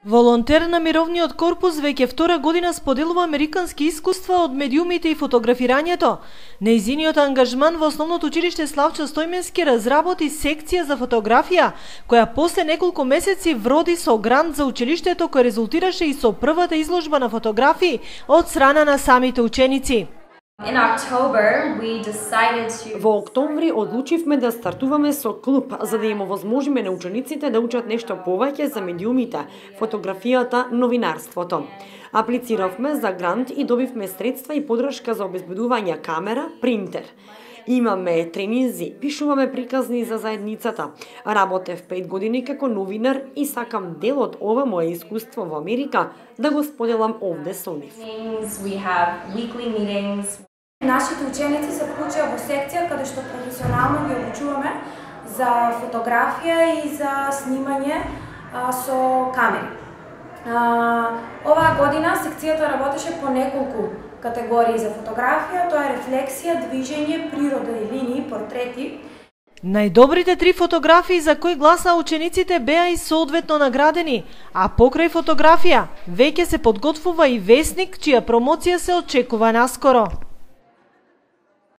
Волонтер на Мировниот корпус веќе втора година споделува американски искуства од медиумите и фотографирањето. Нејзиниот ангажман во Основното училиште Славчо Стојменски разработи секција за фотографија, која после неколку месеци вроди со грант за училиштето, кој резултираше и со првата изложба на фотографии од страна на самите ученици. Во октомври одлучивме да стартуваме со клуб, за да им овозможиме на учениците да учат нешто повеќе за медиумите, фотографијата, новинарството. Аплициравме за грант и добивме средства и подршка за обезбедување камера, принтер. Имаме тренинзи, пишуваме приказни за заедницата. Работев 5 години како новинар и сакам дел од ова мое искуство во Америка да го споделам овде со нив. Нашите ученици се вклучија во секција каде што професионално ги обучуваме за фотографија и за снимање со камери. Оваа година секцијата работеше по неколку категории за фотографија, тоа е рефлексија, движење, природа и линии, портрети. Најдобрите 3 фотографии за кои гласа учениците беа и соодветно наградени, а покрај фотографија веќе се подготвува и весник чија промоција се очекува наскоро.